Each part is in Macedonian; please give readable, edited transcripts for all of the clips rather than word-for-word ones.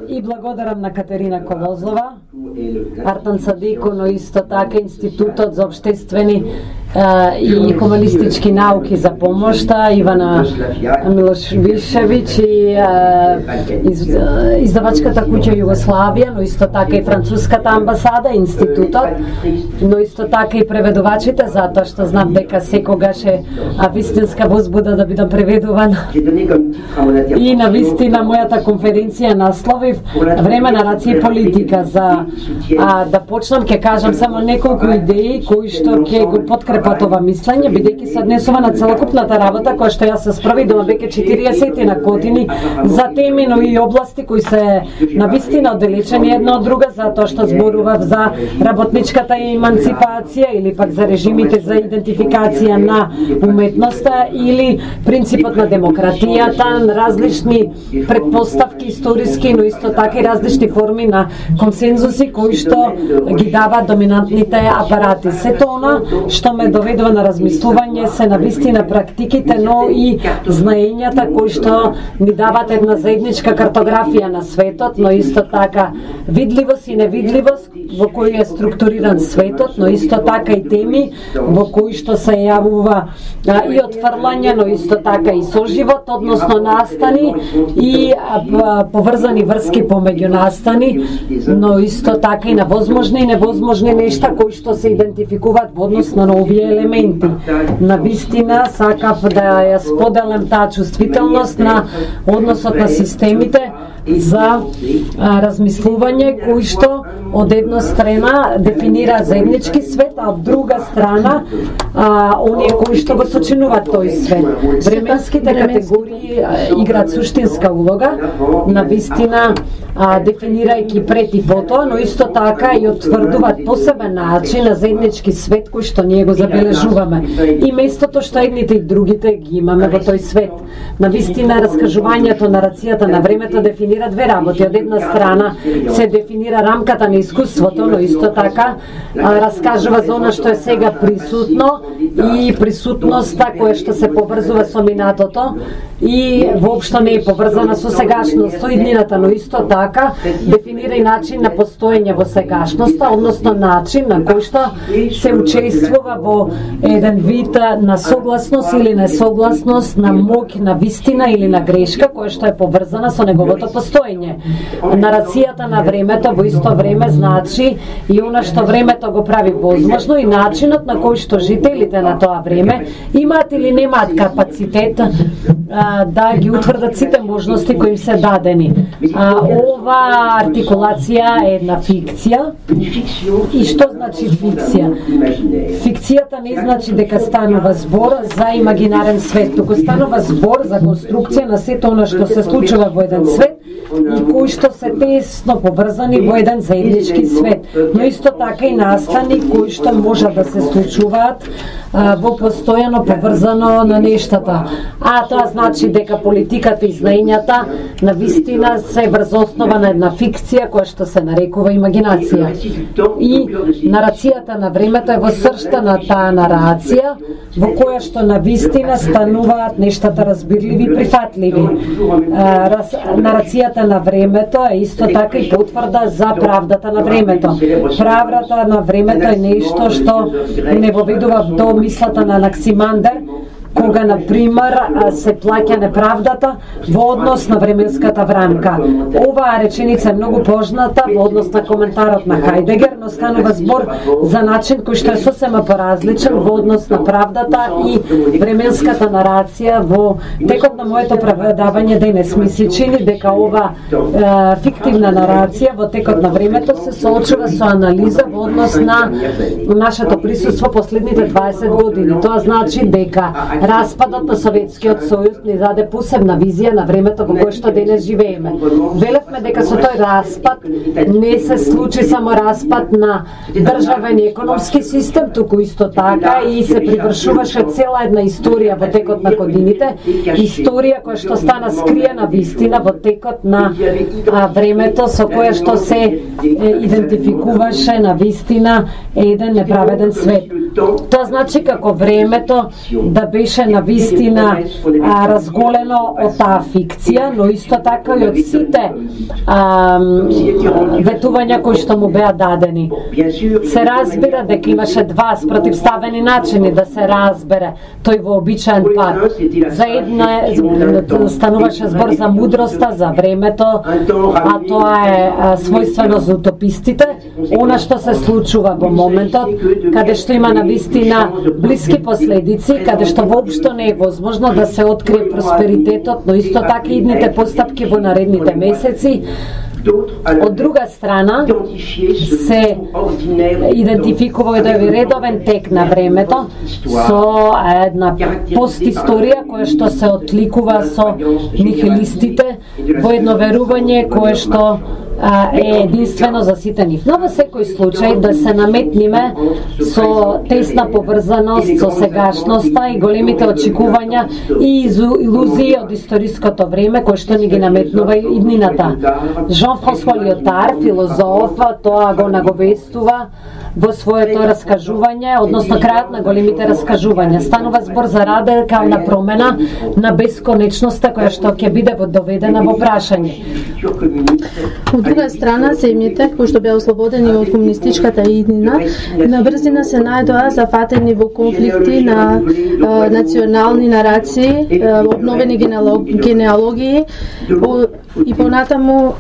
И благодарам на Катерина Колозова, Артан Садико, но исто така Институтот за обштествени и хуманистички науки за помошта, Ивана Милошвишевич и издавачката куќа Југославија, но исто така и француската амбасада, Институтот, но исто така и преведувачите, затоа што знам дека секогаш е вистинска возбуда да бидам преведувана. И на вистина мојата конференција насловив време, нарација и политика. За да почнам ќе кажам само неколку идеи кои што ќе го подкрепат ова мислење, бидејќи се однесува на целокупната работа која што јас се спроведувам веќе 40 на години за теми, но и области кои се навистина оддалечени една од друга, затоа што зборував за работничката еманципација или пак за режимите за идентификација на уметноста или принципот на демократијата, различни предпоставки историски, но исто така и различни форми на консензуси кои што ги даваат доминантните апарати. Сето она што ме доведува на размислување се навистина практиките, но и знаењата кои што ни даваат една заедничка картографија на светот, но исто така видливост и невидливост во кој е структуриран светот, но исто така и теми во кои што се јавува и отфрлање, но исто така и соживот, односно настани и поврзани врски помеѓу настани, но исто така и на возможни и невозможни нешта кои што се идентификуваат во однос на овие елементи. На вистина сакав да ја споделам таа чувствителност на односот на системите за размислување кои што од една страна дефинира заеднички свет, а од друга страна оние кои што го сочинуваат тој свет. Временските категории играат суштинска улога, на вистина дефинирајќи пред и потоа, но исто така и утврдуваат посебен начин на заеднички свет кој што ние го забележуваме. И местото што едните и другите ги имаме во тој свет. На вистина раскажувањето на рацијата на времето дефинира две работи. Од една страна се дефинира рамката на искуството, но исто така раскажува за она што е сега присутно и присутноста која што се поврзува со минатото и воопшто не е поврзана со сегашност, со иднината, но исто така дефинира и начин на постоење во сегашноста, односно начин на кој што се учествува во еден вид на согласност или несогласност, на моќ, на вистина или на грешка, која што е поврзана со неговото постоење. Нарацијата на времето во исто време значи и она што времето го прави возможно и начинот на кој што жителите на тоа време имаат или немаат капацитет да ги утврдат сите можности кои им се дадени. Ова артикулација е една фикција. И што значи фикција? Фикцијата не значи дека станува збор за имагинарен свет, туку станува збор за конструкција на сето она што се случува во еден свет и кои што се тесно поврзани во еден заеднички свет, но исто така и настани кои што можат да се случуваат во постојано поврзано на нештата. Тоа значи дека политиката и знаењата на вистина се врз основа на една фикција која што се нарекува имагинација. И нарацијата на времето е во сршта на таа нарација во која што на вистина стануваат нештата разбирливи и прифатливи. Нарацијата на времето е исто така и потврда за правдата на времето. Правдата на времето е нешто што не воведува до мислата на Анаксимандер, кога, например, се плаќа неправдата во однос на временската рамка. Оваа реченица е многу позната во однос на коментарот на Хајдегер, но станува збор за начин кој што е сосема поразличен во однос на правдата и временската нарација. Во текот на моето преведавање денес ми се чини дека ова фиктивна нарација во текот на времето се соочува со анализа во однос на нашето присуство последните 20 години. Тоа значи дека распадот на Советскиот сојуз ни даде посебна визија на времето во кое што денес живееме. Велевме дека со тој распад не се случи само распад на државен и економски систем, туку исто така и се привршуваше цела една историја во текот на годините, историја која што стана скриена вистина во текот на времето со која што се идентификуваше на вистина еден неправеден свет. Тоа значи како времето да беше навистина разголено од таа фикција, но исто така и од сите ветувања кои што му беа дадени. Се разбира дека имаше два спротивставени начини да се разбере тој вообичаен пат. За една стануваше збор за мудроста, за времето, а тоа е својствено за утопистите, она што се случува во моментот, каде што има навистина блиски последици, каде што воопшто не е возможно да се открие просперитетот, но исто така и идните постапки во наредните месеци. Од друга страна се идентификува еден редовен тек на времето со една постисторија која што се отликува со нихилистите во едно верување кое што е единствено за сите нив. Но во секој случај да се наметниме со тесна поврзаност со сегашноста и големите очекувања и илузии од историското време кој што ни ги наметнува иднината. Жан-Франсуа Лиотар, филозоф, тоа го наговестува во своето раскажување, односно крајот на големите раскажувања. Станува збор за радикална промена на бесконечноста која што ќе биде доведена во прашање. Од друга страна, земјите кои што беа ослободени од комунистичката иднина, на брзина се најдоа зафатени во конфликти на национални нарации, обновени генеалогии и понатаму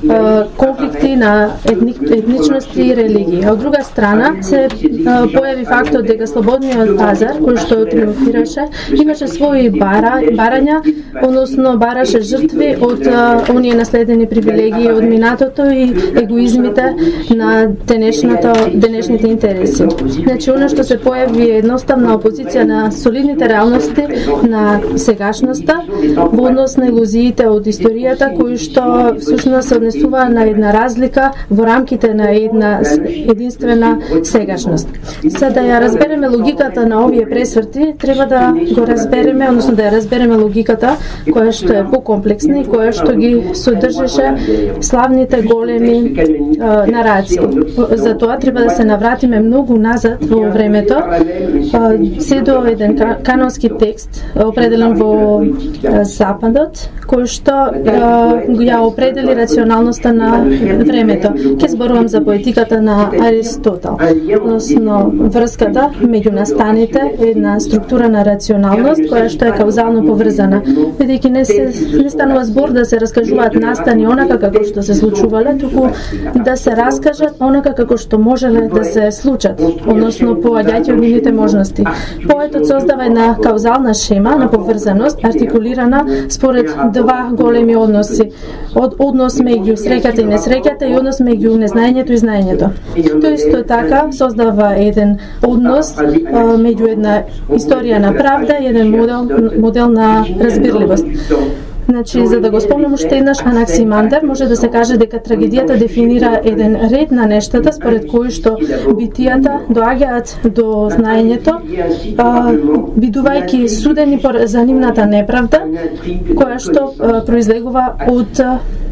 конфликти на етничности и религии. Од друга страна се појави фактот дека слободниот пазар, кој што триумфираше, имаше своји барања, односно бараше жртви од оние наследени привилегии од минатото и егоизмите на денешните интереси. Значи, она што се појави е едноставна опозиција на солидните реалности на сегашноста во однос на илузиите од историјата, кои што всушност се однесува на една разлика во рамките на една единствена сегашност. За да ја разбереме логиката на овие пресврти, треба да го разбереме, односно да ја разбереме логиката која што е покомплексна и која што ги содржеше славните големи нарации. За тоа треба да се навратиме многу назад во времето, се до еден канонски текст определен во Западот, кој што ја определи рационалноста на времето. Ке зборувам за поетиката на Аристотел, односно врската меѓу настаните, една структура на рационалност која што е каузално поврзана, бидејќи не станува збор да се раскажуваат настани онака како што се случувале, туку да се раскажат онака како што можеле да се случат, односно поаѓајќи од нивните можности. Поетот создава една каузална шема на поврзаност, артикулирана според два големи односи. Однос меѓу среќата и несреќата и однос меѓу незнаењето и знаењето. Тој исто така создава еден однос меѓу една историја на правда и еден модел на разбирливост. Значи, за да го спомнам уште еднаш Анаксимандер, може да се каже дека трагедијата дефинира еден ред на нештата според кои што битијата доаѓаат до знаењето, бидувајќи судени за нивната неправда, која што произлегува од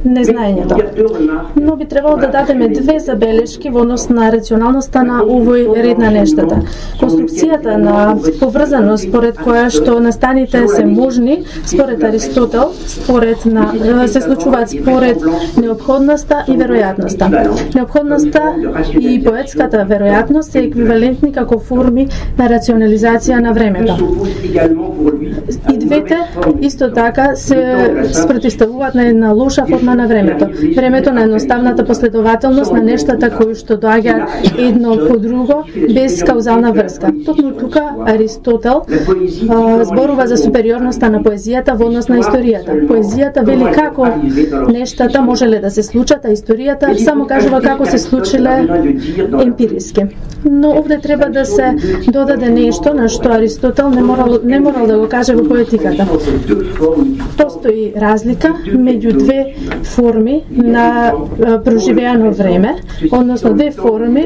незнаењето. Но би требало да дадеме две забелешки во однос на рационалноста на овој ред на нештата. Конструкцијата на поврзаност според која што настаните се можни, според Аристотел, се случуваат според неопходноста и веројатноста. Неопходноста и поетската веројатност се еквивалентни како форми на рационализација на времето. И двете исто така се спротивставуваат на една лоша форма на времето. Времето на едноставната последователност на нештата кои што доаѓаат едно по друго без каузална врска. Токму тука Аристотел зборува за супериорноста на поезијата во однос на историјата. Поезијата вели како нештата можеле да се случат, а историјата само кажува како се случиле емпириски. Но овде треба да се додаде нешто на што Аристотел не морал да го каже во поетиката. Постои разлика меѓу две форми на проживеано време, односно две форми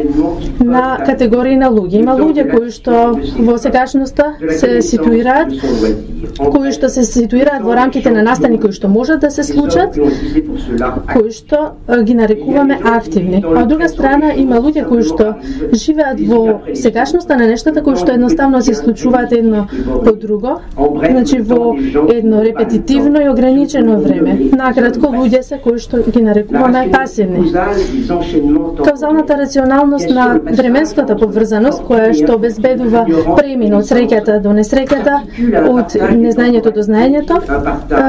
на категории на луѓе. Има луѓе кои што во сегашноста се ситуираат, во рамките на настани кои што можат да се случат, кои што ги нарекуваме активни. А од друга страна има луѓе кои што живеат во сегашноста на нештата кои што едноставно се случуваат едно по друго, значи во едно репетитивно и ограничено време. Накратко, луѓе се кои што ги нарекуваме пасивни. Каузалната рационалност на временската поврзаност, која што обезбедува премин од среќата до несреќата, од незнаењето до знаењето,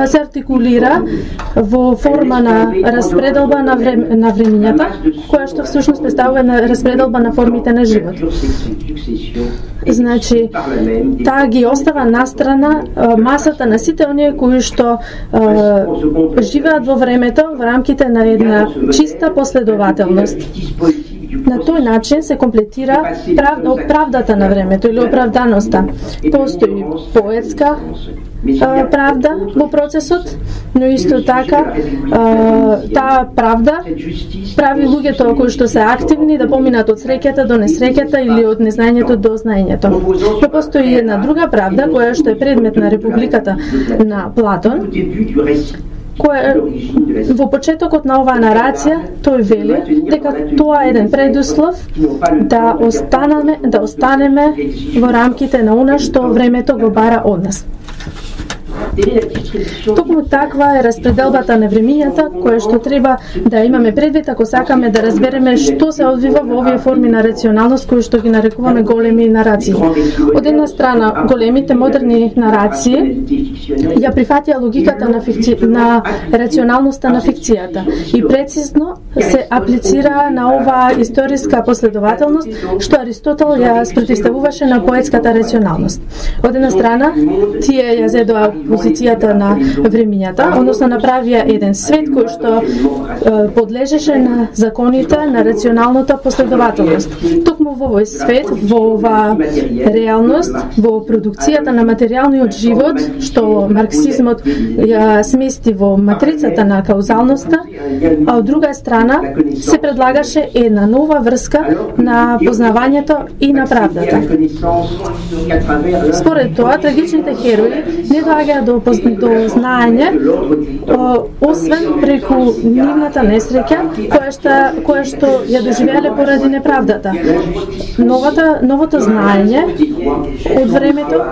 се артикулира во форма на распределба на времињата, која што всушност представува на распределба на формите на живот. Значи, таа ги остава настрана масата на сите оние кои што живеат во времето во рамките на една чиста последователност. На тој начин се комплетира правдата на времето или оправданоста. Постои поетска правда во процесот, но исто така таа правда прави луѓето кои што се активни да поминат од среќата до несреќата или од незнаењето до знаењето. Но постои една друга правда која што е предмет на Републиката на Платон, која во почетокот на оваа нарација тој вели дека тоа е еден предуслов да останеме во рамките на она што времето го бара од нас. Токму таква е распределбата на времињата која што треба да имаме предвид ако сакаме да разбереме што се одвива во овие форми на рационалност кои што ги нарекуваме големи нарации. Од една страна, големите модерни нарации ја прифатија логиката на рационалноста на фикцијата и прецизно се аплицира на оваа историска последователност што Аристотел ја спротивставуваше на поетската рационалност. Од една страна, тие ја зедоа позицијата на времињата, односно направија еден свет кој што подлежеше на законите на рационалната последователност. Токму во овој свет, во оваа реалност, во продукцијата на материјалниот живот, што марксизмот ја смести во матрицата на каузалноста, а од друга страна се предлагаше една нова врска на познавањето и на правдата. Според тоа, трагичните херои не доаѓаат до знаење, освен преку нивната несреќа, која што ја доживеале поради неправдата. Новото знаење од времето,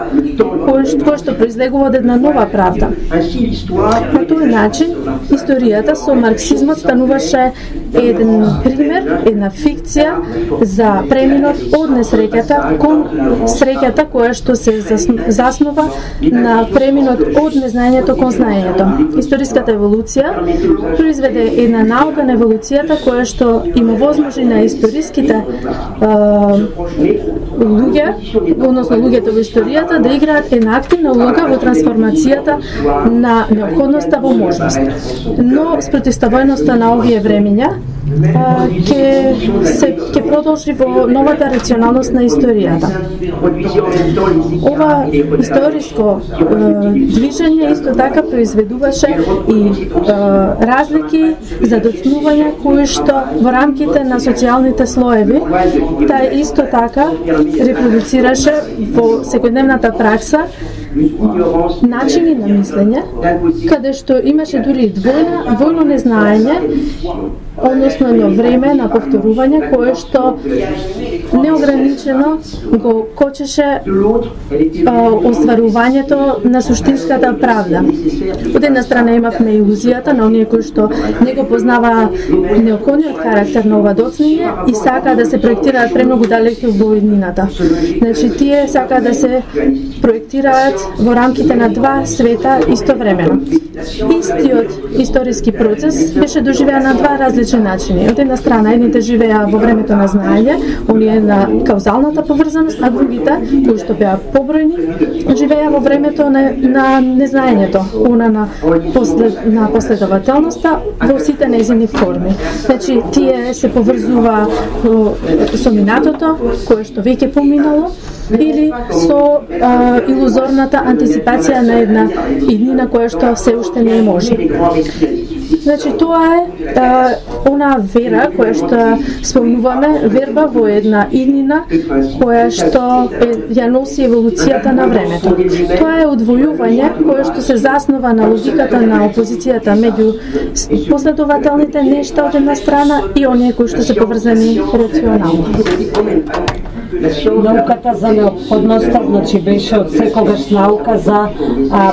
кое што произлегува од една нова правда. На тој начин, историјата со марксизмот стануваше еден пример, една фикција за преминот од несреќата кон среќата која што се заснова на преминот од незнаењето кон знаењето. Историската еволуција произведе една наука на еволуцијата која што им овозможи на историските луѓе, односно луѓето во историјата, да играат една активна улога во трансформацијата на неопходноста во можност. Но спротивставеноста на овие времиња ќе продолжи во новата рационалност на историјата. Ова историско движење исто така произведуваше и разлики за доцнување кои што во рамките на социјалните слоеви таа исто така репродуцираше во секојдневната пракса начини на мислење, каде што имаше дури двојно незнаење, односно едно време на повторување кое што неограничено го кочеше остварувањето на суштинската правда. Од една страна имавме илузијата на оние кои што не го познаваа неопходниот карактер на ова доцнење и сакаа да се проектираат премногу далеку во иднината. Значи, тие сакаа да се проектираат во рамките на два света истовремено. Истиот историски процес беше доживеан на два различни начини. Од една страна, едните живеа во времето на знаење, оние на каузалната поврзаност, а другите, кои што беа побројни, живеа во времето на незнаењето, она на последователноста во сите нејзини форми. Значи, тие се поврзува со минатото, кое што веќе поминало, или со илузорната антиципација на една иднина која што се уште не може. Значи тоа е она вера која што спомнуваме, верба во една иднина која што ја носи еволуцијата на времето. Тоа е одвојување кое што се заснова на логиката на опозицијата меѓу последователните нешта од една страна и оние кои што се поврзани рационално. Науката за неопходноста, значи беше од секогаш наука за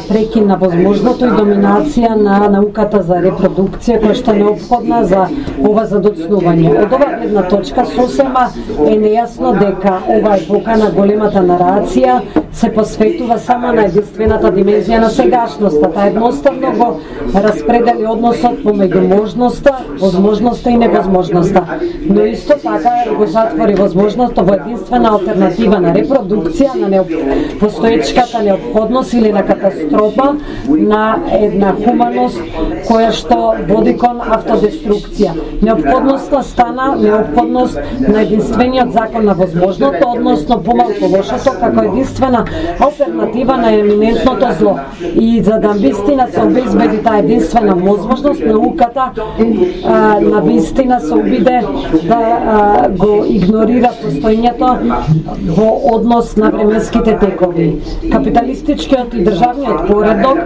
прекин на возможното и доминација на науката за репродукција, која што е неопходна за ова задоцнување. Од оваа гледна точка сосема е нејасно дека ова епока на големата нарација се посветува само на единствената димензија на сегашноста. Таа едноставно го распредели односот помеѓу можноста, возможноста и невозможноста. Но исто така го затвори возможноста во единствена алтернатива на репродукција, на постоечката неопходност или на катастрофа, на една хуманост која што води кон автодеструкција. Неопходноста стана неопходност на единствениот закон на возможното, односно помалку лошото, како единствена алтернатива на еминентното зло. И за да вистина се обезбеди таа единствена возможност, науката на вистина се обиде да го игнорира постоењето во однос на временските текови. Капиталистичкиот и државниот поредок,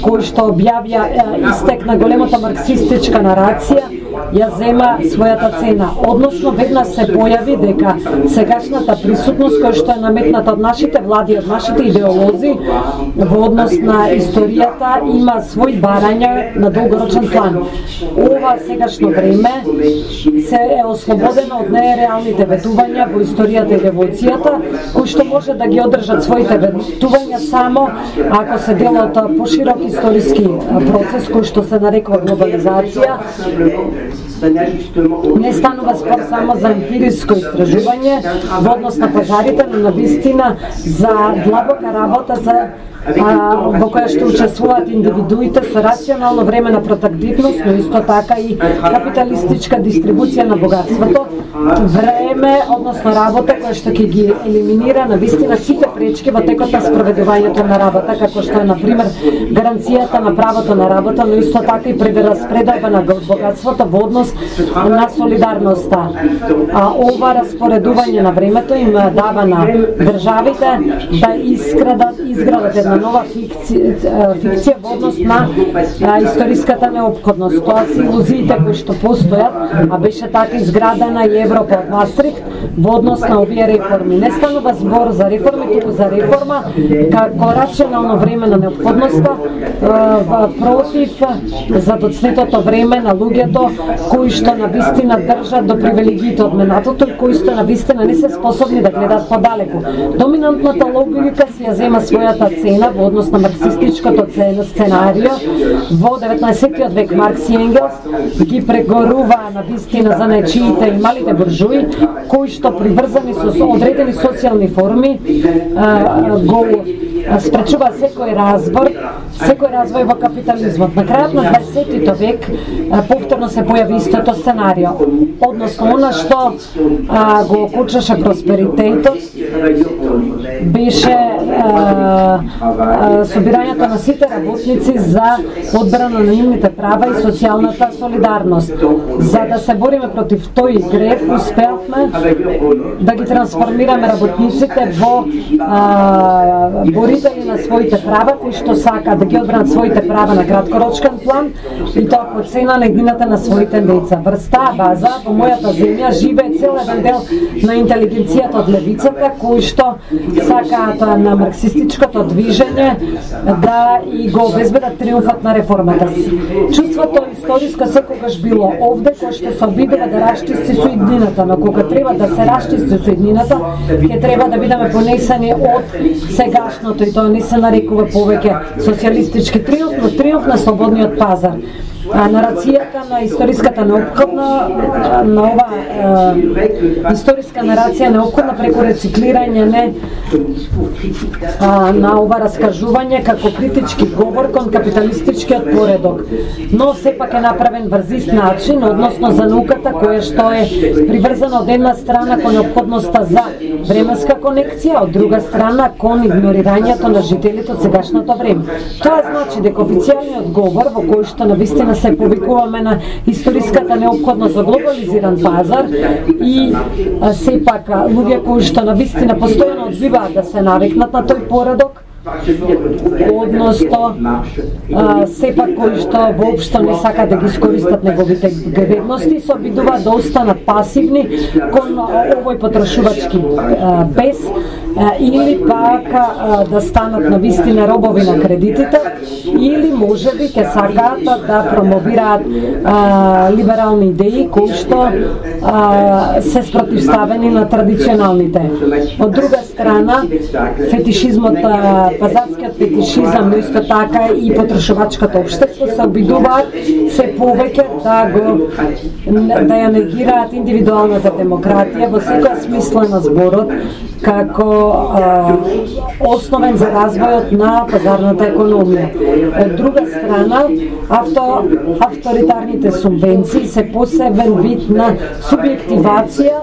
кој што објавија истек на големата марксистичка нарација, ја зема својата цена. Односно, веднаш се појави дека сегашната присутност која што е наметната од нашите влади, од нашите идеолози во однос на историјата има свој барања на долгорочен план. Ова сегашно време се е ослободено од нереалните ветувања во историјата и револуцијата, кои што може да ги одржат своите ветувања само ако се дел од поширок историски процес кој што се нарекува глобализација. Не станува спор само за емпириско истражување во однос на пазарите, но на вистина за длабока работа во која што учествуваат индивидуите со рационално време на протактивност, но исто така и капиталистичка дистрибуција на богатството, време, односно работа која што ќе ги елиминира на вистина сите пречки во текот на спроведувањето на работа, како што е например гаранцијата на правото на работа, но исто така и прераспределба на богатството во однос на солидарноста. Ова распоредување на времето им дава на државите да изградат една нова фикција во однос на историската неопходност. Тоа се илузиите кои што постојат, а беше така изградена и Европа од Мастрихт во однос на овие реформи. Не станува збор за реформи, туку за реформа како рационално време на неопходноста против задоцнетото време на луѓето кои што на вистина држат до привилегиите од минатото и кои што на вистина не се способни да гледаат подалеку. Доминантната логика си ја зема својата цена во однос на марксистичкото сценарио. Во 19 век Маркс и Енгелс ги прегорува на вистина за нечиите и малите буржуи, кои што приврзани со одредени социјални форми го спречува секој развој во капитализмот. На крајот на 20 век повторно се појави истото сценарио. Односно, она што го окучаше просперитетот беше собирањето на сите работници за одбрана на нивните права и социјалната солидарност. За да се бориме против тој греф, успеавме да ги трансформираме работниците во борители на своите права, кои што сакаат да ги одбранат своите права на краткорочен план и тоа по цена на еднината на своите деца. Врз таа база, во мојата земја живее цел еден дел на интелигенцијата од левицата, кои што сакаат на марксистичкото движење да и го обезбедат триумфот на реформата си. Чувството историско секогаш било овде, кој што се обидува да расчисти со иднината, но кога треба да се расчисти со иднината, ќе треба да бидеме понесени од сегашното и тоа не се нарекува повеќе социјалистички триумф, но триумф на слободниот пазар. Нарацијата на историската неопходна на ова историска нарација неопходна преку рециклирање на ова раскажување како критички говор кон капиталистичкиот поредок. Но сепак е направен врз ист начин, односно за науката која што е приврзана од една страна кон неопходноста за временска конекција, од друга страна кон игнорирањето на жителите од сегашното време. Тоа значи дека официјалниот говор во кој што на вистина навистина се повикуваме на историската неопходност за глобализиран пазар и сепак луѓе кои што навистина постојано одбиваат да се навикнат на тој поредок, односно сепак кои што воопшто не сакаат да ги искористат неговите вредности, се обидуваат да останат пасивни кон овој потрошувачки бес или пак да станат навистина робови на кредитите, или можеби ќе сакаат да промовираат либерални идеи кои што се спротивставени на традиционалните. Од друга страна, фетишизмот, пазарскиот фетишизам, но исто така и потрошувачкото општество се обидуваат се повеќе да ја негираат индивидуалната демократија во секоја смисла на зборот како основен за развојот на пазарната економија. Од друга страна, авторитарните субвенции се посебен вид на субјективација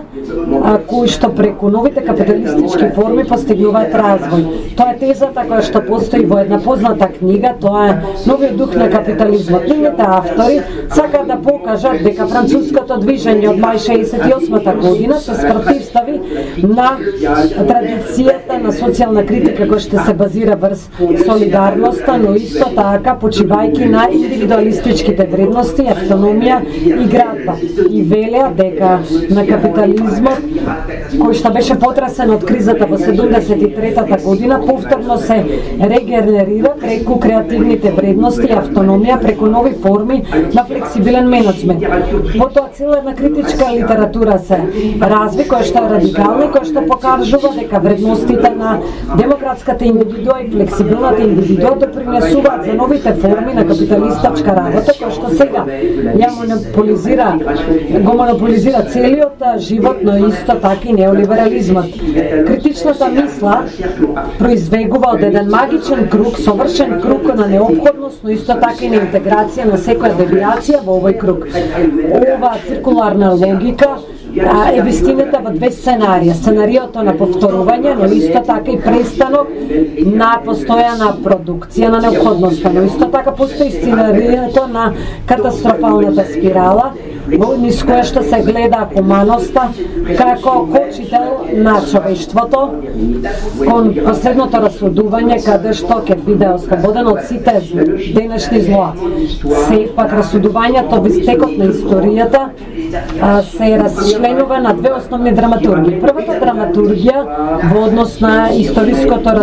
кои што преку новите капиталистички форми постигнуваат развој. Тоа е тезата која што постои во една позната книга, тоа е Новиот дух на капитализмот. Нивните автори сакаат да покажат дека француското движење од мај 68 година се спротивстави на традицијата на социјална критика која што се базира врз солидарноста, но исто така почивајќи на индивидуалистичките вредности, автономија и градба. И велеа дека на капитализмот, кој што беше потресен од кризата во 73-та година, повторно се регенерира преку креативните вредности и автономија, преку нови форми на флексибилен менеджмент. Потоа цела една критичка литература се разви, која што е радикална и која што покажува дека вредностите на демократската индивидуа и флексибилната индивидуа допринесуваат за новите форми на капиталистичка работа, која што сега го монополизира целиот живот, но исто така и неолиберализмот. Критичната мисла произвегува од еден магичен круг, совршен круг на неопходност, но исто така и на интеграција на секоја девијација во овој круг. Оваа циркуларна логика е вистината во две сценарија. Сценариото на повторување, но исто така и престанок на постојана продукција на неопходноста, но исто така постои сценариото на катастрофалната спирала, низ која што се гледа хуманоста како кочител на човештвото кон последното расудување каде што ќе биде ослободен од сите денешни злоа. Сепак расудувањето во стекот на историјата се расчленува на две основни драматургии. Првата драматургија во однос на историското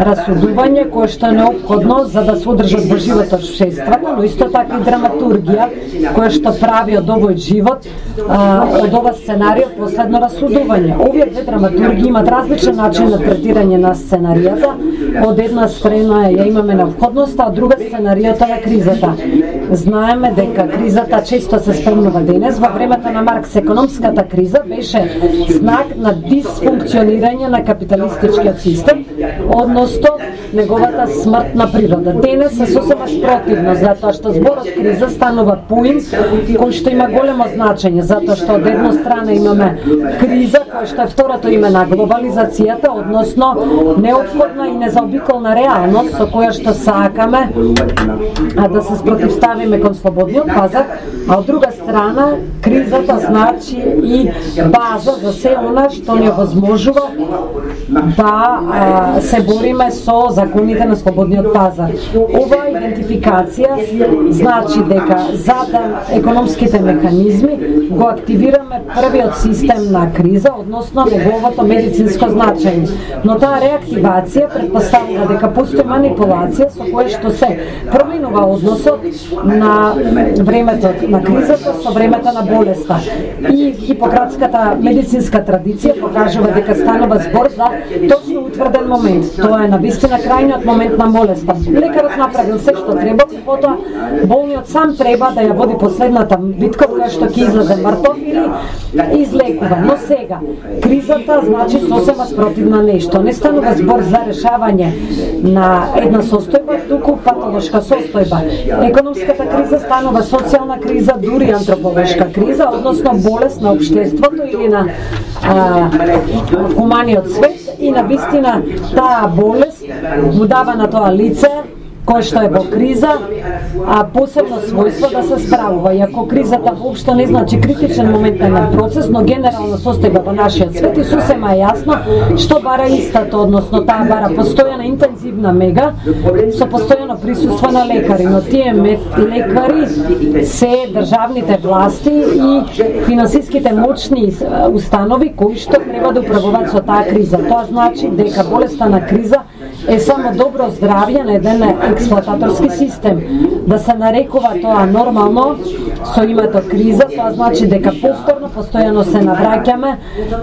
расудување кое што е неопходно за да се одржат во живот општествата, но исто така и драматургија која што прави од овој живот, од ова сценарио последно расудување. Овие две драматурги имат различен начин на третирање на сценаријата. Од една страна ја имаме неопходноста, а друга сценаријата на кризата. Знаеме дека кризата често се спомнува денес. Во времето на Маркс економската криза беше знак на дисфункционирање на капиталистичкиот систем, односно неговата смртна природа. Денес се сосема спротивно, затоа што зборот криза станува поим кој што има големо значење, затоа што од една страна имаме криза, која што е второто име на глобализацијата, односно неопходна и незаобиколна реалност со која што сакаме да се спротивставиме кон слободниот пазар, а од друга страна кризата значи и база за се она што ни овозможува да се бориме со законите на слободниот пазар. Оваа идентификација значи дека за да економските механизми го активираме првиот систем на криза, односно неговото медицинско значење. Но таа реактивација претпоставува дека постои манипулација со која што се променува односот на времето на кризата со времето на болеста. И хипократската медицинска традиција покажува дека станува збор за точно утврден момент. Тоа е навистина крајниот момент на болеста. Лекарот направил се што треба, потоа болниот сам треба да ја води последната битка која што ќе излезе мртов или излекува. Но сега кризата значи сосема спротивно нешто. Не станува збор за решавање на една состојба, туку патолошка состојба. Економската криза станува социјална криза, дури антрополошка криза, односно болест на општеството или на хуманиот свет, и на вистина таа болест му дава на тоа лице кој што е во криза, а посебно својство да се справува. Иако кризата воопшто не значи критичен момент на процес, но генерална состојба во нашиот свет и сосема е јасно што бара истата, односно таа бара постојана интензивна мега со постојано присуство на лекари, но тие лекари се државните власти и финансиските мочни установи кои што треба да управуваат со таа криза. Тоа значи дека болеста на криза е само добро здравје на еден експлоататорски систем. Да се нарекува тоа нормално со името криза, тоа значи дека повторно, постојано се навраќаме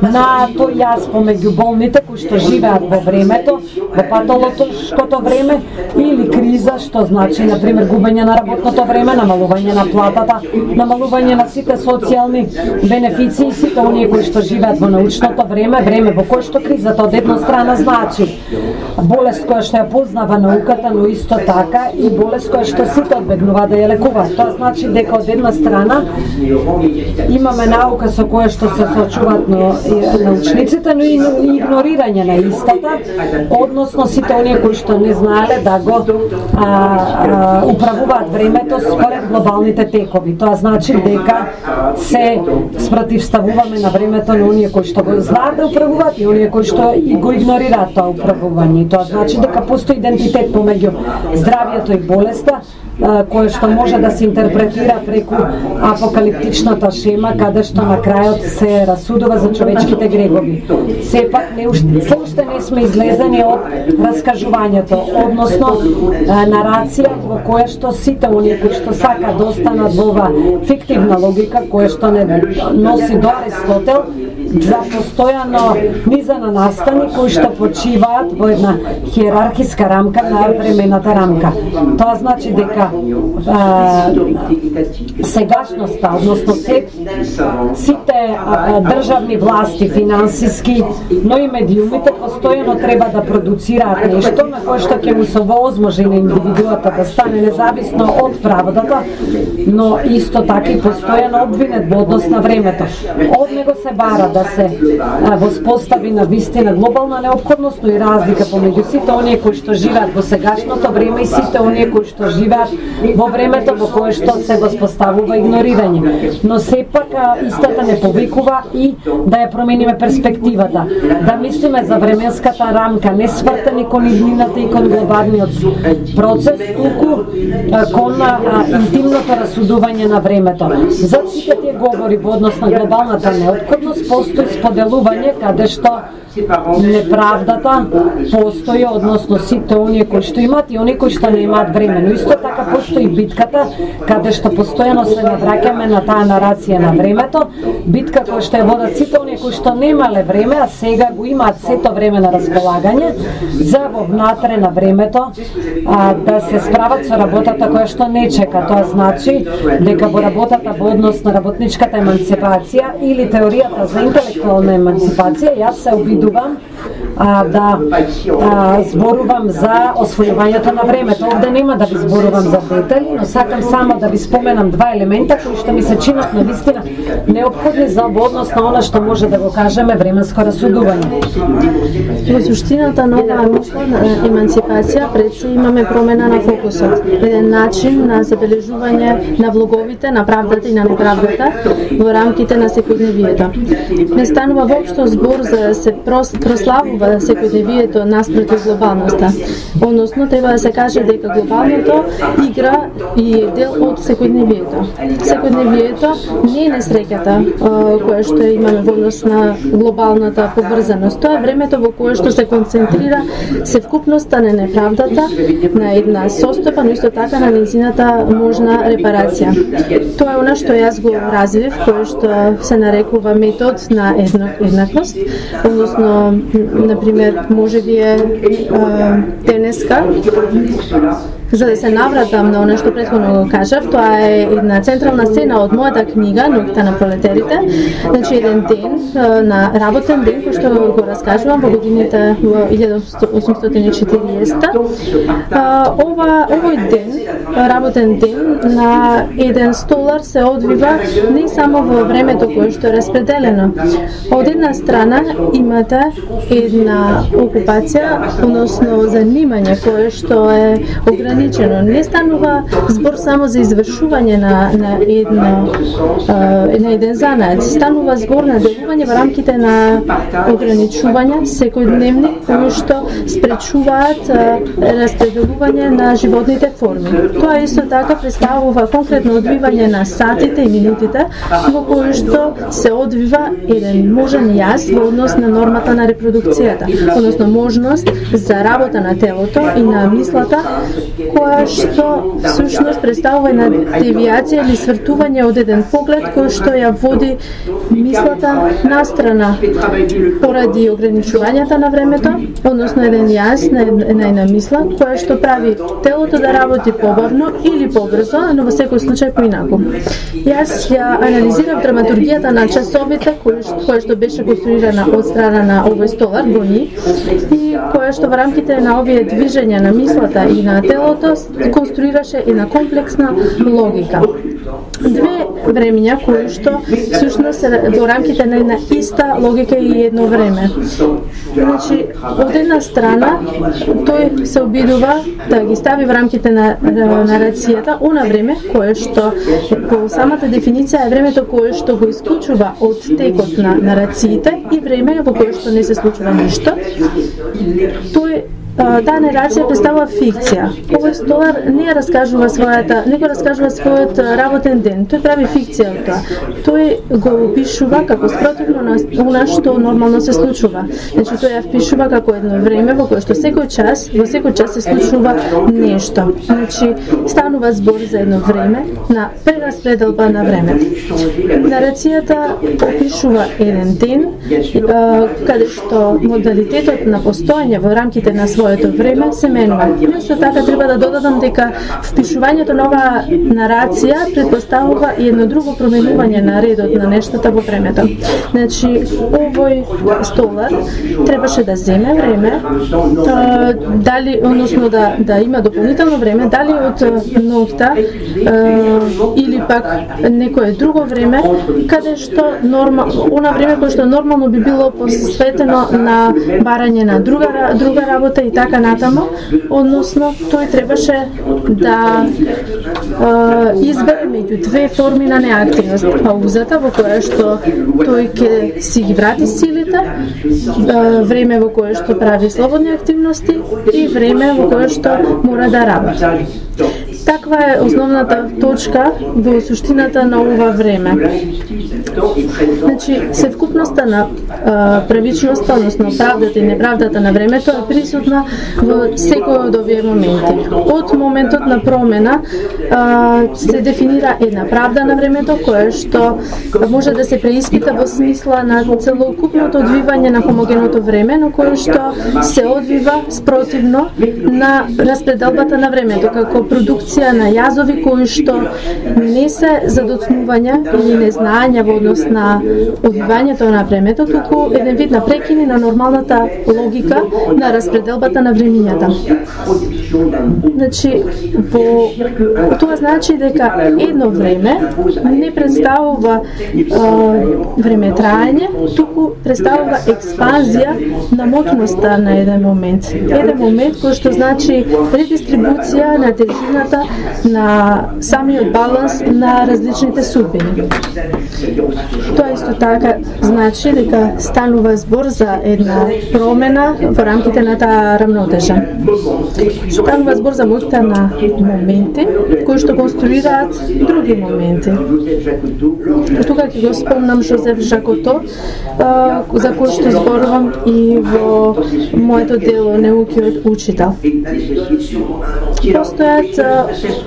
на тој јаз помеѓу болните кои што живеат во времето, во патолошкото време, или криза што значи, например, губење на работното време, намалување на платата, намалување на сите социјални бенефиции, сите оние кои што живеат во научното време, време во кое што кризата од една страна значи болест која што ја познава науката, но исто така и болест која што сите одбегнуваат да ја лекуваат. Тоа значи дека од една страна имаме наука со која што се соочуваат научниците, но и игнорирање на истата, односно сите оние кои што не знаеле да го управуваат времето според глобалните текови. Тоа значи дека се спротивставуваме на времето на оние кои што го знаат да управуваат и оние кои што и го игнорираат тоа управување. Тоа значи дека постои идентитет помеѓу здравјето и болеста, кое што може да се интерпретира преку апокалиптичната шема, каде што на крајот се расудува за човечките грехови. Сепак, уште не сме излезени од раскажувањето, односно нарација во која што сите оние кои што сакаат да останат во ова фиктивна логика, која што не носи до Аристотел, за постојано низана настани кои што почиваат во една хиерархиска рамка на времената рамка. Тоа значи дека сегашноста, односно сите државни власти, финансиски, но и медиумите постојано треба да продуцираат нешто на кое што ќе му се овозможи на индивидуата да стане независно од правдата, но исто така и постојано обвинет во однос на времето. Од него се бара да се воспостави на вистина глобална неопходност и разлика помеѓу сите оние кои што живеат во сегашното време и сите оние кои што живеат во времето во кое што се воспоставува игнорирање. Но сепак истата не повикува и да ја промениме перспективата, да мислиме за временската рамка, не свртени кон иднината и кон глобалниот процес, туку кон интимното расудување на времето. За сите тие говори во однос на глобалната неопходност постои споделување каде што неправдата постои, односно сите оние кои што имаат и оние кои што не имаат време. Но исто така постои битката каде што постојано се навраќаме на таа нарација на времето, битка која што ја водат сите оние кои што немале време, а сега го имаат сето време на располагање за во внатре на времето да се справат со работата која што не чека. Тоа значи дека во работата во однос на работничката емансипација или теоријата за интелектуална емансипација, јас се обидувам да зборувам за освојувањето на времето. Овде нема да ви зборувам за детали, но сакам само да ви споменам два елемента кои што ми се чинат на вистина неопходни за во однос на она што може да го кажеме временско расудување. Во суштината на оваа мислена емансипација пред се имаме промена на фокусот, еден начин на забележување на влоговите, на правдата и на неправдата во рамките на секојдневието. Не станува воопшто збор за да се прославува секојдневието наспроти глобалноста. Односно, треба да се каже дека глобалното игра и е дел од секојдневието. Секојдневието не е несреќата која што имаме во однос на глобалната поврзаност. Тоа е времето во кое што се концентрира севкупноста на неправдата на една состојба, но исто така на нејзината можна репарација. Тоа е она што јас го развив, кое што се нарекува метод на еднаквост, односно, например, може би е денеска, за да се навратам на оно што претходно го кажав, тоа е една централна сцена од мојата книга Ноќта на пролетерите, значи еден ден, на работен ден, кој што го раскажувам во годините во 1840. Овој ден, работен ден, на еден столар се одвива не само во времето кое што е распределено. Од една страна имате една окупација, односно занимање кое што е ограничено ограничено. Не станува збор само за извршување на еден занат. Станува збор на делување во рамките на ограничувања секојдневни кои што спречуваат распределување на животните форми. Тоа исто така представува конкретно одвивање на сатите и минутите во кои што се одвива еден можен јас во однос на нормата на репродукцијата, односно можност за работа на телото и на мислата, која што всушност представува една девијација или свртување од еден поглед кој што ја води мислата настрана поради ограничувањата на времето, односно еден јас на една мисла која што прави телото да работи побавно или побрзо, но во секој случај поинаку. Јас ја анализирав драматургијата на часовите која што беше конструирана од страна на овој столар Гони и која што во рамките на овие движења на мислата и на телото конструираше една комплексна логика. Две времења кои што всушност се во рамките на една иста логика и едно време. Значи, од една страна тој се обидува да ги стави во рамките на нарацијата она време кое што по самата дефиниција е времето кое што го исклучува од текот на нарациите и време во кое што не се случува ништо. Тој таа нарација представува фикција. Овој столар не раскажува својот работен ден. Тој прави фикција од тоа. Тој го опишува како спротивно на она што нормално се случува. Значи тој ја впишува како едно време во кое што во секој час се случува нешто. Значи станува збор за едно време на прераспределба на време. Нарацијата опишува еден ден каде што модалитетот на постоење во рамките на своето време се менува. Исто така треба да додадам дека впишувањето на оваа нарација претпоставува и едно друго променување на редот на нештата во времето. Значи, овој столар требаше да земе време, дали, односно да има дополнително време, дали од ноќта или пак некое друго време, каде што она време кое што нормално би било посветено на барање на друга работа и така натаму, односно тој требаше да избере меѓу две форми на неактивност. Паузата во која што тој ќе си ги врати силите, време во кое што прави слободни активности и време во кое што мора да работи. Таква е основната точка во суштината на ова време. Значи, севкупноста на правичноста, односно правдата и неправдата на времето е присутна во секој од овие моменти. Од моментот на промена се дефинира една правда на времето која што може да се преиспита во смисла на целокупното одвивање на хомогеното време, но кое што се одвива спротивно на распределбата на времето, како продукција на јазови кои што не се задоцнувања или незнаења во однос на одвивањето на времето, туку еден вид на прекини на нормалната логика на распределбата на времињата. Значи, тоа значи дека едно време не представува време траење, туку представува експанзија на моќноста на еден момент. Еден момент кој што значи редистрибуција на тежината на самиот баланс на различните судбини. Тоа исто така значи дека станува збор за една промена во рамките на таа рамнотежа. Станува збор за моќта на моменти кои што конструираат други моменти. Тука ќе го спомнам Жозеф Жакото, за кој што зборувам и во моето дело Неукиот учител. Постојат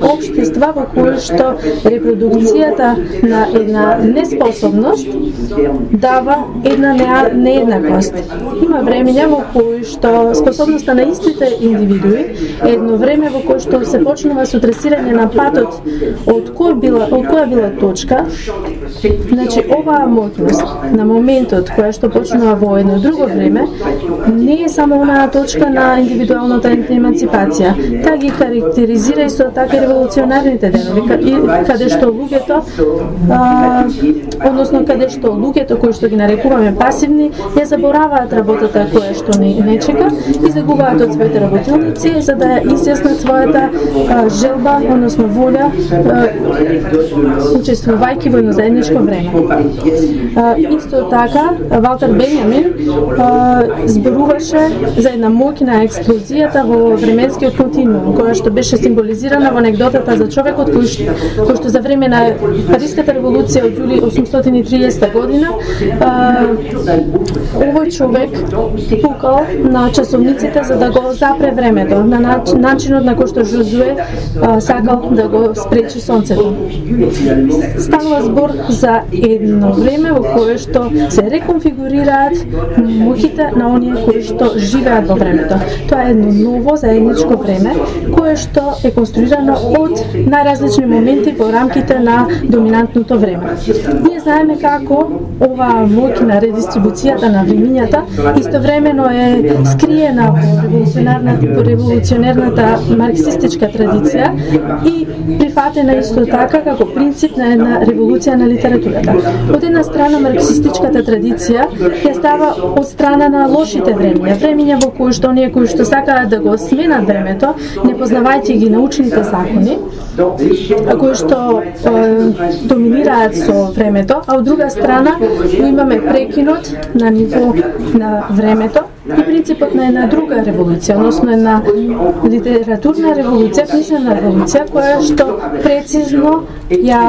општества во кои што репродукцијата на една неспособност дава една нееднаквост. Има времења во кои што способноста на истите индивидуи е едно време во кое што се почнува со тресирање на патот од која била точка. Значи, оваа моќност на моментот која што почнува во едно друго време не е само онаа точка на индивидуалната емансипација. Таа ги карактеризира исто така револуционарните денови, каде што луѓето, односно каде што луѓето кои што ги нарекуваме пасивни, ја забораваат работата која што не чека и загубаат од своите работилници за да ја изјаснат својата желба, односно волја, учествувајќи во едно заедничко време. Исто така, Валтер Бенјамин зборуваше за една моќна експлозијата во временскиот континуум, која што беше символизирана во анегдотата за човекот кој што за време на Париската револуција од јули 830 година овој човек пукал на часовниците за да го запре времето, на начинот на кој што Жозуе сакал да го спречи сонцето. Станува збор за едно време во кое што се реконфигурираат моќите на оние кои што живеат во времето. Тоа е едно ново заедничко време кое што е конструирано од најразлични моменти во рамките на доминантното време. Ние знаеме како оваа моќ на редистрибуцијата на времињата истовремено е скриена во револуционерната марксистичка традиција и прифатена исто така како принцип на една револуција на литературата. Од една страна марксистичката традиција ја става од страна на лошите времиња во кои што оние кои што сакаат да го сменат времето, не познавајќи ги научните закони, кои што доминираат со времето, а од друга страна имаме прекинот на ниво на времето и принципот на една друга револуција, односно една литературна револуција, книжна револуција, која што прецизно ја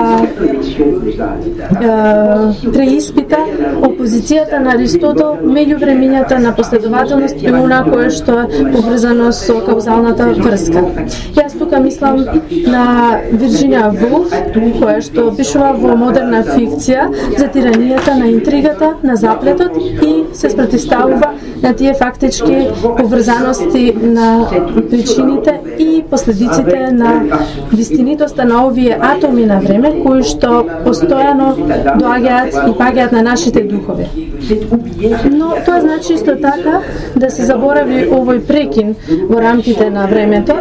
преиспита опозицијата на Аристотел меѓу времињата на последователност и она кое што е поврзано со каузалната врска. Јас тука мислам на Вирџинија Вулф, која што пишува во модерна фикција за тиранијата на интригата, на заплетот и се спротивставува на тие фактички поврзаности на причините и последиците на вистинитоста на овие атоми на време кои што постојано доаѓаат и паѓаат на нашите духови. Но тоа значи исто така да се заборави овој прекин во рамките на времето.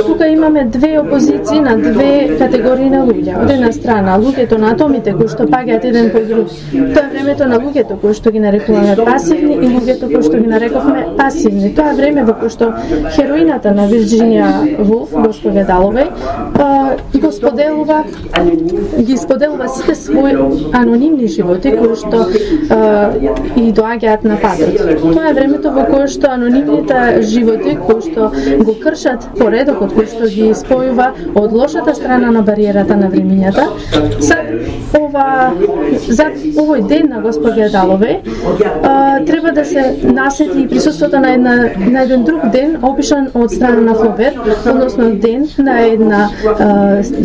Тука имаме две опозиции на две категории на луѓе. Од една страна луѓето на атомите кои што паѓаат еден по друг. Тоа е времето на луѓето кои што ги нарекуваме пасивни и луѓето кои што ги нарековме пасивни. Тоа е време во кое што хероината на Вирџинија Вулф, госпожа Даловеј, ги споделува сите своји анонимни животи кои што и доаѓаат на патот. Тоа е времето во кое што анонимните животи кои што го кршат поредокот кој што ги спојува од лошата страна на бариерата на времињата. За овој ден на госпожа Даловеј треба да се насети и присуството на еден друг ден опишан од страна на Флобер, односно ден на една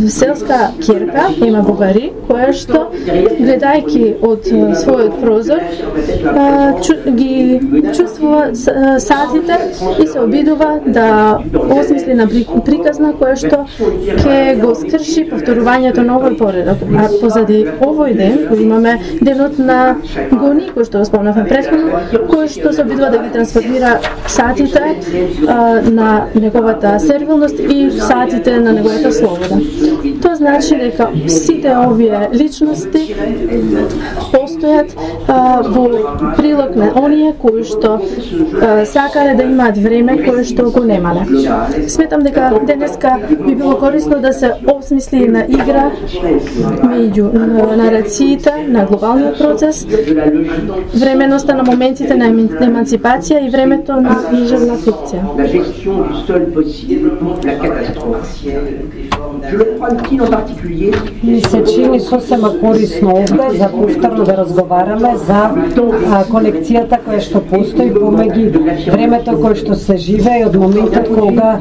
селска ќерка, Ема Бовари, која што гледајќи од својот прозор ги чувствува сатите и се обидува да осмисли на приказна која што ќе го скрши повторувањето на овој поредок. А позади овој ден кој имаме денот на Гони, кој што го спомнавме претходно, кој што се обидува да ги трансформира сатите на неговата сервилност и сатите на неговата слобода. Тоа значи дека сите овие личности постојат во прилог на оние кои што сакале да имаат време кое што го немале. Сметам дека денеска би било корисно да се осмисли една игра меѓу нарациите на глобалниот процес, временоста на моментите на емансипација и времето на книжевна фикција. Ми се чини сосема корисно овде за повторно да разговараме за конекцијата која што постои помеѓу времето кое што се живее и од моментот кога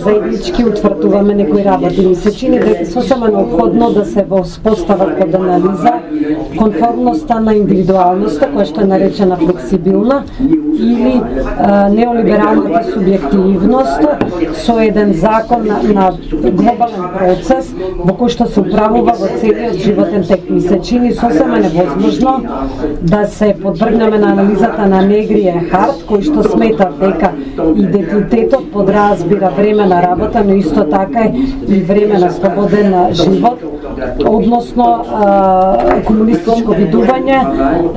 заеднички утврдуваме некои работи. Ми се чини дека сосема неопходно да се воспостават под анализа конформноста на индивидуалноста која што е наречена флексибилна или неолибералната субјективност со еден закон на глобален процес во кој што се управува во целиот животен тек. Ми се чини сосема невозможно да се подвргнеме на анализата на Негри и Харт, кој што смета дека идентитетот подразбира време на работа, но исто така и време на слободен живот, односно комунистичко видување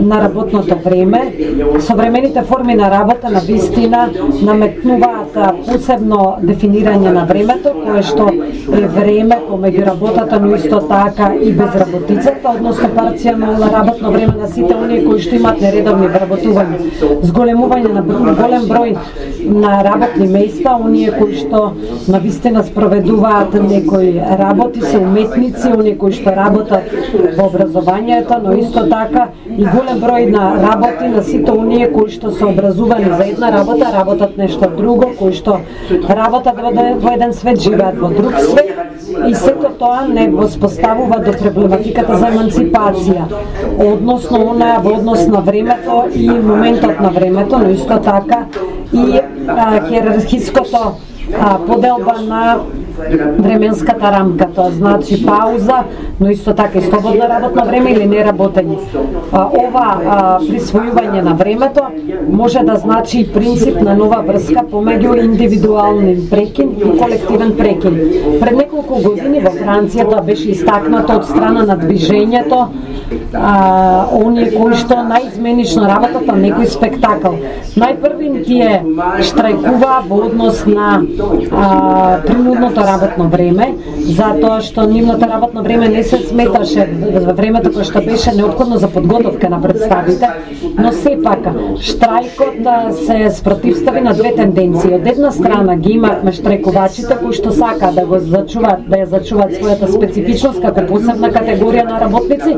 на работното време. Современите форми форми на работа на вистина наметнуваат посебно дефинирање на времето, кое што е време помеѓу работата, но исто така и безработицата, односно парцијално работно време на сите оние кои што имаат нередовни вработувања, зголемување на голем број на работни места, оние кои што навистина спроведуваат некои работи, се уметници, оние кои што работат во образованието, но исто така и голем број на работи на сите оние кои што се образувани за една работа, работат нешто друго, кои што работат во еден свет, живеат во друг свет, и сето тоа не воспоставува до проблематиката за емансипација, односно она во однос на времето и моментот на времето, но исто така и хиерархиското поделба на временската рамка, тоа значи пауза, но исто така и слободно работно време или неработење. Ова присвојување на времето може да значи и принцип на нова врска помеѓу индивидуален прекин и колективен прекин. Пред неколку години во Франција тоа беше истакнато од страна на движењето, оние кои што наизменично работат на некој спектакл. Најпрви тие штрајкуваа во однос на принудното работно време, затоа што нивното работно време не се сметаше во времето кое што беше неопходно за подготовка на представите, но сепак штрајкот се спротивстави на две тенденции. Од една страна ги имавме штрајкувачите кои што сакаат да го зачуваат, да ја зачуваат својата специфичност како посебна категорија на работници,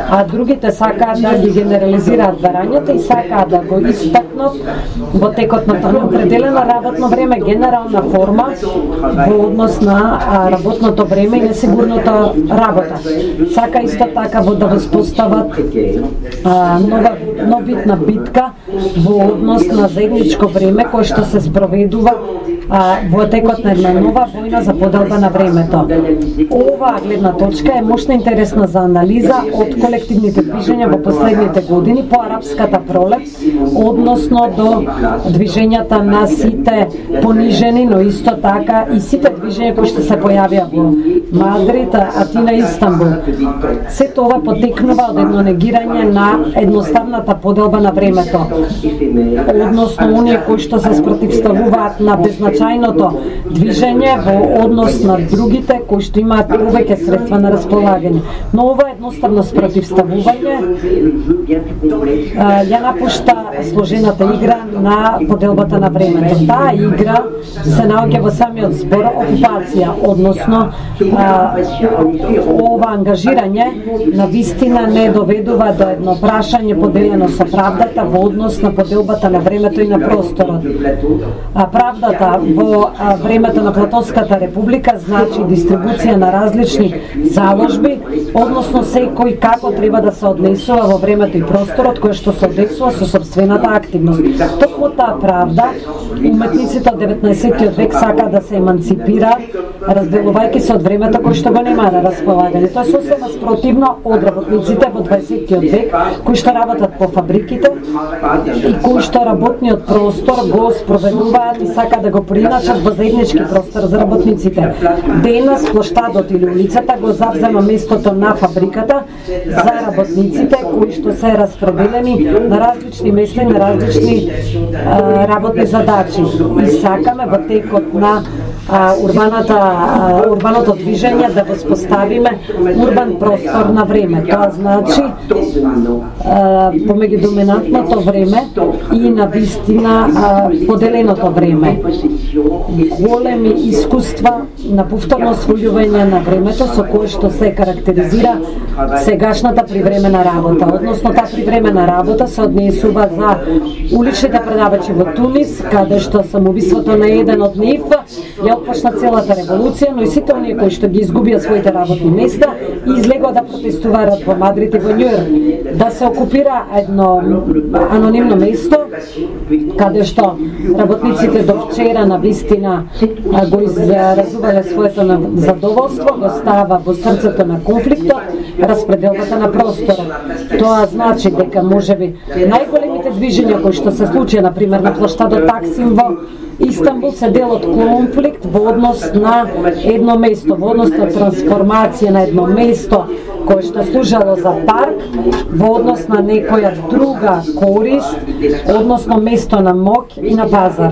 а другите сакаат да ги генерализираат барањата и сакаат да го истакнат во текот на тоа определено работно време, генерална форма во однос на работното време и несигурната работа. Сака исто така да воспостават нов вид на битка во однос на заедничко време кое што се спроведува во текот на една нова војна за поделба на времето. Оваа гледна точка е мощна интересна за анализа од колективните движења во последните години по арапската пролет, односно до движењата на сите понижени, но исто така и сите движења кои што се појавија во Мадрид, Атина и Истанбул. Се тоа потекнува од едно негирање на едноставната поделба на времето, односно оние кои што се спротивставуваат на беззначајното движење во однос на другите кои што имаат повеќе средства на располагање. Но ова едноставно спротивставување ја напушта сложената игра на поделбата на времето. Таа игра се наоѓа во самиот збор окупација, односно ова ангажирање на вистина не доведува до едно прашање поделено со правдата во однос на поделбата на времето и на просторот. Правдата во времето на Платонската република значи дистрибуција на различни заложби, односно секој како треба да се однесува во времето и просторот кој што се однесува со собствената активност. Токму таа правда, уметниците од 19 век сака да се емансипираат, разделувајќи се од времето кој што го нема на располагање. Тоа е сосема спротивно од работниците во 20 век, кои што работат по фабриките и кои што работниот простор го спроведуваат и сака да го приначат во заеднички простор за работниците. Денес плоштадот или улицата го завзема местото на фабриката за работниците кои што се распределени на различни места и на различни работни задачи. И сакаме во текот на урбаното движење да воспоставиме урбан простор на време. Тоа значи помеѓу доминантното време и на вистина поделеното време. Големи искуства на повторно освојување на времето со кое што се карактеризира сегашната привремена работа. Односно таа привремена работа се однесува за уличните предавачи во Тунис, каде што самоубиството на еден од нив ја отпочна целата револуција, но и сите оние кои што ги изгубија своите работни места и излегоа да протестуваат во Мадрид и во Њујорк. Да се окупира едно анонимно место, каде што работниците до вчера на вистина го изразувале своето задоволство, го става во срцето на конфликтот, распределбата на просторот. Тоа значи дека можеби најголемите движења кои што се случија, например на плоштадот Таксим во Истанбул, се дел од конфликт во однос на едно место, во однос на трансформација на едно место кое што служело за парк во однос на некоја друга корист, односно место на моќ и на пазар.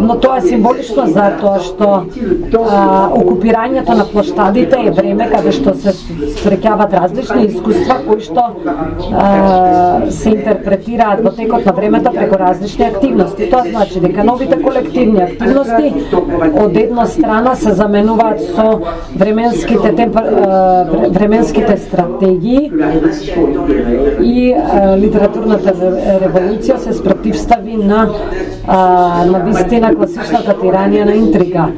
Но тоа е символично затоа што окупирањето на плоштадите е време каде што се среќаваат различни искуства кои што се интерпретираат во текот на времето преку различни активности. Тоа значи дека новите колективни активности од една страна се заменуваат со временските стратегии и литературната револуција се спротивстави на вистина класичната тиранија на интрига.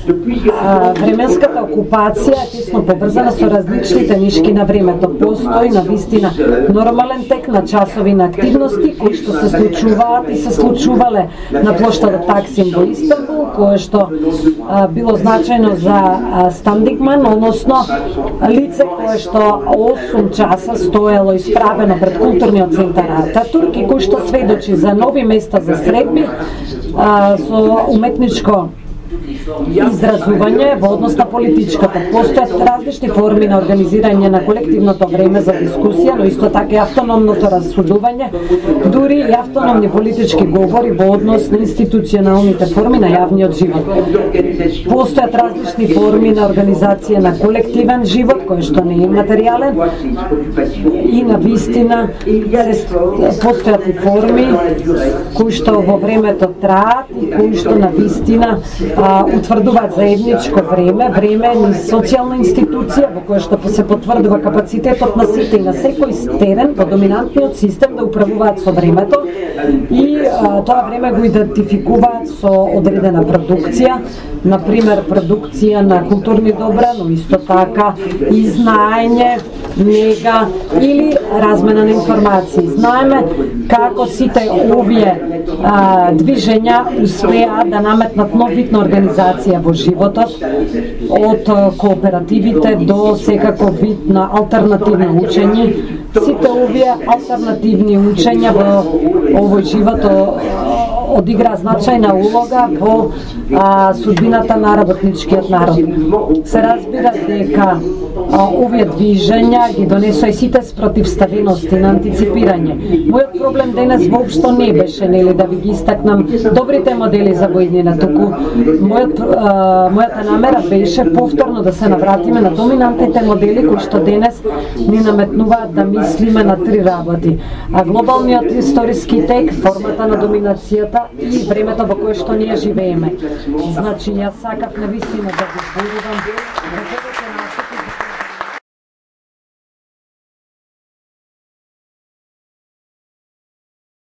Временската окупација е тесно поврзана со различните нишки на времето. Постои на вистина нормален тек на часови на активности кои што се случуваат и се случувале на плоштадот Таксим во Истанбул, кое што било значајно за Стандигман, односно лице кое што 8 часа стоело исправено пред културниот центар Ататурк и кој што сведочи за нови места за средби со уметничко изразување во однос на политичката. Постојат различни форми на организирање на колективното време за дискусија, но исто така и автономното рассудување, дури и автономни политички говори во однос на институционалните форми на јавниот живот. Постојат различни форми на организација на колективен живот, кој што не е материјален, и на вистина постојат и форми кои што во времето траат и кои што на вистина утврдуваат заедничко време ни социјална институција во која што се потврдува капацитетот на сите и на секој терен во доминантниот систем да управуваат со времето и тоа време го идентификуваат со одредена продукција, например продукција на културни добра, но исто така и знаење, нега или размена на информации. Знаеме како сите овие движења успеа да наметнат нов вид на организација во животот, од кооперативите до секаков вид на алтернативно учење. Сите овие алтернативни учења во овој живот одигра значајна улога во судбината на работничкиот народ. Се разбира дека овие движења ги донесоа и сите спротивставености на антиципирање. Мојот проблем денес воопшто не беше да ви ги истакнам добрите модели за воиднина, туку мојата намера беше повторно да се навратиме на доминантните модели кои што денес ни наметнуваат да мислиме на три работи: глобалниот историски тек, формата на доминацијата и времето во кое што ние живееме. Значи, јас сакав навистина да го зборувам